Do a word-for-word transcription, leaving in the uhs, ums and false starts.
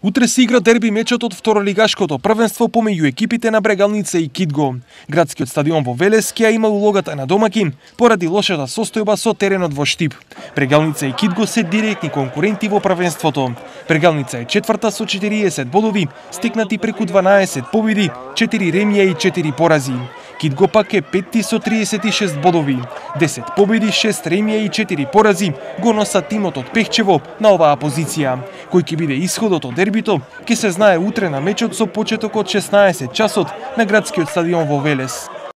Утре се игра дерби мечот од второлигашкото првенство помеѓу екипите на Брегалница и Кидго. Градскиот стадион во Велес ќе има улогата на домакин поради лошата состојба со теренот во Штип. Брегалница и Кидго се директни конкуренти во првенството. Брегалница е четврта со четириесет бодови, стекнати преку дванаесет победи, четири ремија и четири порази. Кидго пак е петти со триесет и шест бодови. десет победи, шест ремија и четири порази го носат тимот од Пехчево на оваа позиција. Кој ќе биде исходот од дербито, ќе се знае утре на мечот со почеток од шеснаесет часот на градскиот стадион во Велес.